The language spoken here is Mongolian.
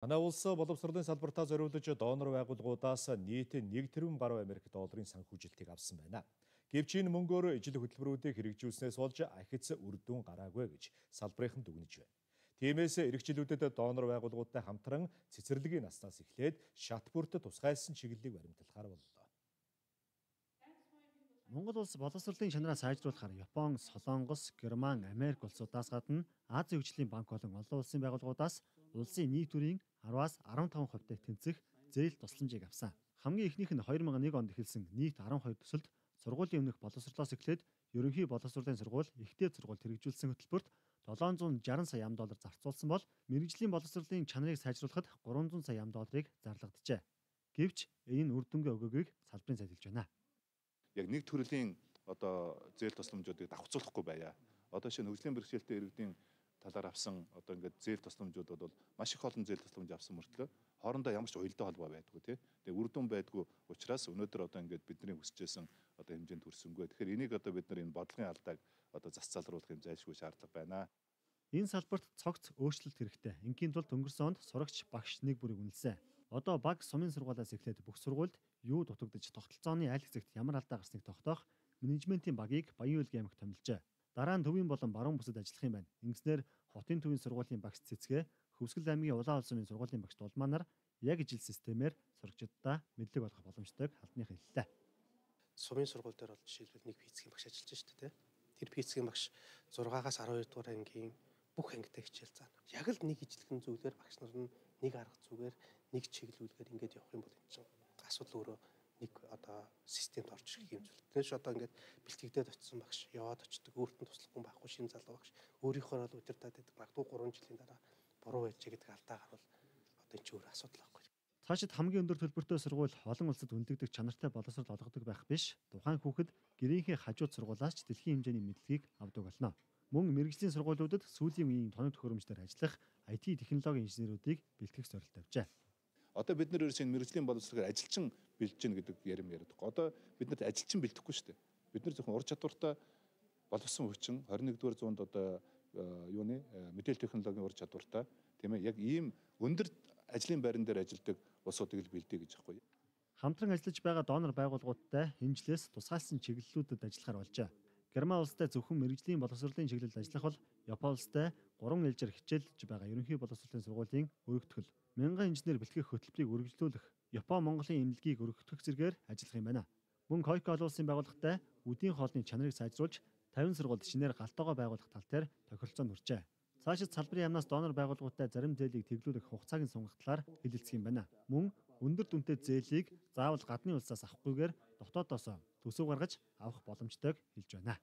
Манай улс боловсролын салбартаа зориулж донор байгууллагуудаас нийт 1 тэрбум гаруй Америк долларын санхүүжилтийг авсан байна. Гэвч энэ мөнгөөр ижил хөтөлбөрүүдийг хэрэгжүүлснээс болж ахиц үр дүн гараагүй гэж салбарынхан дүгнэж байна. Тиймээс эрэгчлүүдэд донор байгууллагуудтай хамтран цэцэрлэгийн наснаас эхлээд шат бүрт тусгайлсан чиглэлийг баримтлахаар боллоо. Монгол улс боловсролын чанараа сайжруулахаар Япон, Солонгос, Герман, Америк улсуудаас гадна Азийн хөгжлийн банк болон олон улсын байгууллагуудаас улсын нийт төрийн 10-аас 15% тэнцэх зээл тусламжийг авсан. Хамгийн ихнийх нь 2001 онд эхэлсэн нийт 12 төсөлд сургуулийн өмнөх боловсролоос эхлээд ерөнхий боловсролын сургууль, ихтэй сургууль хэрэгжүүлсэн хөтөлбөрт 760 сая ам.доллар зарцуулсан бол мэрэгжлийн боловсролын чанарыг сайжруулахад 300 сая ам.долларыг зарлагджээ. Гэвч энэ нь үр дүнгээ өгөөгийг салбарын сайд хэлж байна. Яг нэг төрлийн зээл тусламжуудыг давхцуулахгүй байя. Одоо шинэ хөгжлийн бэрхшээлтэй иргэдийн талаар авсан ингээд зээл тусламжууд бол маш их олон зээл тусламж авсан мөртлөө хоорондоо ямар ч уялдаа холбоо байдгүй тий. Тэгээ үр дүн байдгүй учраас өнөөдөр ингээд бидний хүсэжсэн хэмжээнд хүрсэнгүй. Тэгэхээр энийг бид нар энэ бодлогын алдааг зас залруулах юм зайлшгүй шаардлага байна. Энэ салбарт цогц өөрчлөлт хэрэгтэй. Ингийн тулд өнгөрсөн онд сурагч багш нэг бүрийг үнэлсэн. Одоо баг сумын сургуулиас эхлээд бүх сургуульд юу дутагдж тогтолцооны айл хэсэгт ямар алдаа гарсныг тогтоох менежментийн багийг Баян-Үйлгийн аймагт томилжээ. Дараа нь төвийн болон баруун бүсэд ажиллах юм байна. Ингэснээр хотын төвийн сургуулийн багш цэцгээ, Хөвсгөл аймгийн Улаан улсын сургуулийн багш Дулманаар яг ижил системээр сурагчдаа мэдлэг олгох боломжтойг халдных хэллээ. Сумын сургууль дээр бол жишээлбэл нэг физикийн багш ажиллаж шүү дээ. Тэр физикийн багш 6-аас 12 дугаар ангийн бүх ангитай хичээл заана. Яг л нэг ижлэгэн зүйлээр багш нар нь нэг арга зүгээр нэг чиглүүлгээр ингэж явах юм бол энэ чинь асуудал өөрөө нэг системд орж ирэх юм зүйл. Тэгээс ингээд бэлтгэгдээд очисон багш яваад очдөг, өөртөө туслахгүй байхгүй шинэ залуу багш өөрийнхөө л удирдаад байдаг. Магадгүй 3 жилийн дараа буруу байж гэдэг алдаа гарвал энэ ч өөр асуудал байхгүй. Цаашид хамгийн өндөр төлбөртэй сургууль олон улсад хүндэгдэх чанартай боловсрол олгодог байх биш. Тухайн хүүхэд гэрийнхээ хажууд сургуулиас ч дэлхийн хэмжээний мэдлэгийг авдаг болно. Мөн мэрэгжлийн сургуулиудад сүүлийн үеийн тоног төхөөрөмжлөөр ажиллах IT технологийн инженеруудыг бэлтгэх зорилт тавьжээ. Одоо бид нар ерөөсөө мэрэгжлийн боловсролоор ажилчин бэлдэж гин гэдэг ярим яриад байгаа. Одоо бид нарт ажилчин бэлдэхгүй шүү дээ. Бид нар зөвхөн ур чадвартай боловсон хүчин 21-р зуунд мэдээлэл технологийн ур чадвартай тийм ээ яг ийм өндөр ажлын байран дээр ажилладаг улсуудыг л бэлдээ гэж аахгүй. Хамтран ажиллаж байгаа донор байгууллагуудтай хэмжлээс тусгайлсан чиглэлүүдэд ажиллахаар болжээ. Герман улстай зөвхөн мэрэгжлийн боловсролын чиглэлд ажиллах бол Япон улстай 3 ээлжээр хичээлж байгаа ерөнхий боловсролын сургуулийн өргөтгөл, мянган инженер бэлтгэх хөтөлбөрийг үргэлжлүүлэх, Япон Монголын эмнэлгийг өргөтгөх зэргээр ажиллах юм байна. Мөн Койко олон улсын байгууллагатай үдийн хоолны чанарыг сайжруулж 50 сургуульд шинээр галтгоо байгуулах тал дээр тохиролцоонд хүрчээ. Цаашид салбарын яамнаас донор байгууллагуудтай зарим зээлийг тэглүүлэх хугацааг нь сунгах талаар хэлэлцэх юм байна. Мөн өндөр дүнтэй зээлийг заавал гадны улсаас авахгүйгээр дотоодоос төсөв гаргаж авах боломжтойг хэлж байна.